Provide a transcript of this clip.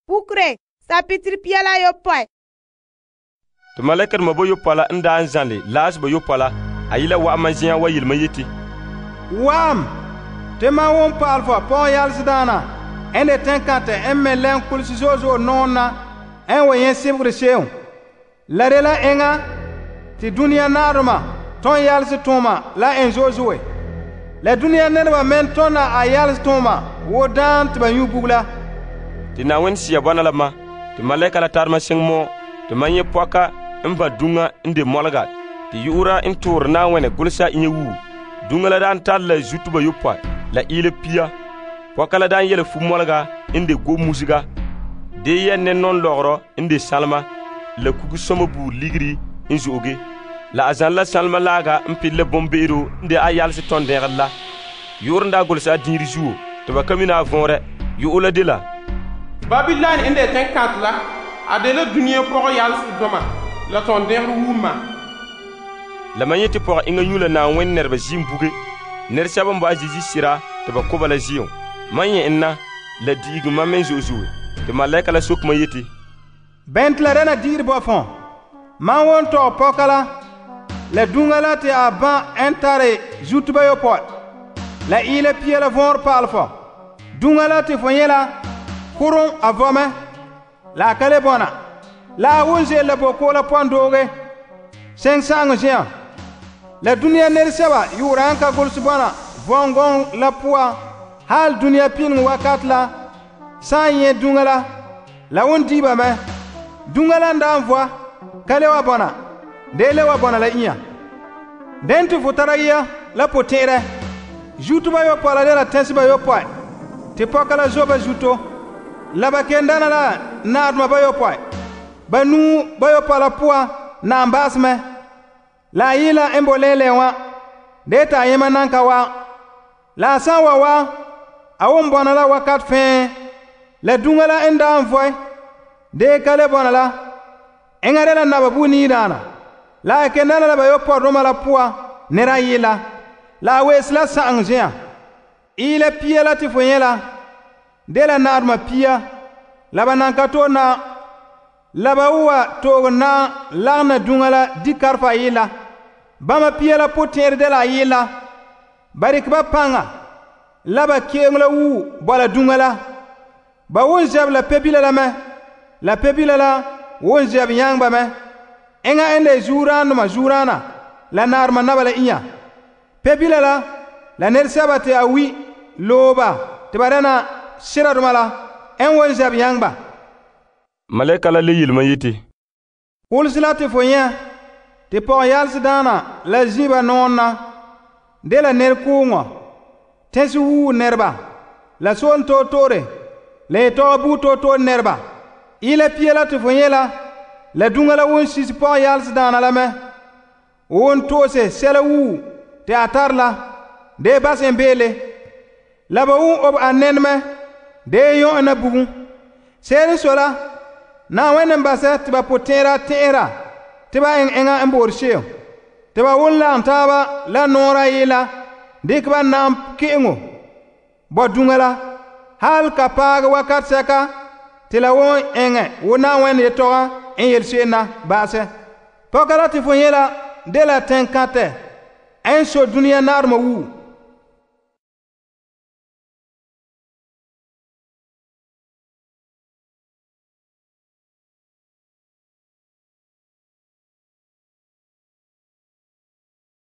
Pukure, sapitiri pia la yopɔe. Te maleka doma boyopɔe la n daa n zanle laas boyopɔe la, a yila wa'ama zen'an wa yele ma yeti, Wa'am, te ma won pa'al fa pɔgɔ yalsedaana en de teŋkantɛ en me lɛn kulisi zo'e zo'e nɔɔrɛ na en wa yẽ sebegere se'em. La de la enŋa te dũniyã naadoma tõn yalse tooma la en zo'e zo'e. La dũniyã nɛreba men tõna a yalse tooma wo daan te ba nyu bugum la. te Na'ayenɛ Sea bɔna la ma, te maleka la tare ma seŋ mɔ, te ma nyɛ pɔka n ba duŋa n de mɔlega, te yu'ura n toore Na'ayenɛ golesa inya wuo. Duŋa la daan tare la zuto bayopɔe la ile pia. Pɔka la daan yɛla fu-mɔlega n de gomusega, dee yɛ nɛnɔn lɔgɔrɔ n de salema, la kugu-sɔma buuri ligiri n zo'oge. La a zan la salema laaga n pile la bombe'ero n de a yalse tɔn dɛgere la. Yu'urɛ n daa golesa a diinre zuo, te ba ka mina a vɔnrɛ. Yu'urɛ la de la Babilon n de teŋkantɛ la, a de la dunia pɔgɔ yalse doma la tɔn dɛgere wuma. La ma yete pɔgɔ inga nyu la Na'ayenɛ nɛreba zim buge. Nɛresɛba n ba a zizi sira te ba koba la zi'o. Man yɛ en na la diigi ma men zo'e zo'e. Te malɛka la soke ma yeti, Bɛn te la dɛna diiri bɔ fɔ? Man won tɔgɛ pɔka la duŋa la te a bã en tare zuto bayopɔe la ile pia la vɔɔre pa'al fɔ. Duŋa la te fo nyɛ la kurum a vɔmɛ la a ka le bɔna. La a wun ze'ele la boko la pɔn dooge seŋ sa'aŋɔ zen'an. La dũniyã nɛresɛba yu'ura n ka golse bɔna vɔngɔŋ la poa hal dũniyã pineŋ wakat la sã n yẽ duŋa la won diiba mɛ. Duŋa la n daa n vɔa ka le wa bɔna, dee le wa bɔna la inya. Den te fo tara yia la potɛ'ɛrɛ. Zuto bayopɔe la de la tɛnse bayopɔe, te pɔka la zo ba zuto. La ba ken dana la naadoma bayopɔe. Ba nuu bayopɔe la poa naam baase mɛ. La a yila n bo lɛɛlɛɛ wã, dee ta a yẽma nan ka wa. La a sã n wa, a won bɔna la wakat fɛɛ. La duŋa la n daa n vɔe, dee ka le bɔna la, eŋa de la naba bu niidaana. La a ken dana la bayopɔe-doma la poa nɛra yɩla. La a weese la sa'aŋ zen'an. Ila pia la te fo nyɛ la, de la naadoma pia, la ba nan ka to na. La ba wa tooge na lagena duŋa la di-karfa yɩla. Bãmba pia la potɛɛre de la a yɩla. Ba dɩk ba paŋa la ba keeŋ la wuu bɔla duŋa la. Ba won zɛb la pebila la mɛ. La pebila la won zɛb yãngba mɛ. Eŋa n de zuuraandoma zuuraana la naarema naba la inya. Pebila la nɛresɛba te a wi looba te ba dɛna siradoma la n won zɛb yãngba. malɛka la le yele ma yeti, Kulsi la te fo nyɛ te pɔgɔ yalsedaana la zĩba nɔɔrɛ na de la nɛrekooŋɔ, tɛnse wuu nɛreba, la soolem toor-toore, la yetɔgɔ bugum toor-toore nɛreba. Ila pia la te fo nyɛ la duŋa la won sisi pɔgɔ yalsedaana la mɛ. Won toose sɛla wuu te a tare la, dee bas en beele. La ba won ob a nɛne mɛ, dee yõ na bugum. Seere n sɔe la, Na'ayenɛ n basɛ te ba potɛɛra tẽ'era te ba eŋ eŋa n boore se'em. Te ba won lagem taaba la noora yɩla, dɩk ba naam ke'eŋo bɔ duŋa la, hal ka paage wakat sɛka te la won eŋɛ wo Na'ayenɛ yetɔgɔ n yel se'em na ba'asɛ. Pɔka la te fo nyɛ la de la tẽn-kãtɛ n so dũniyã naadoma wuu.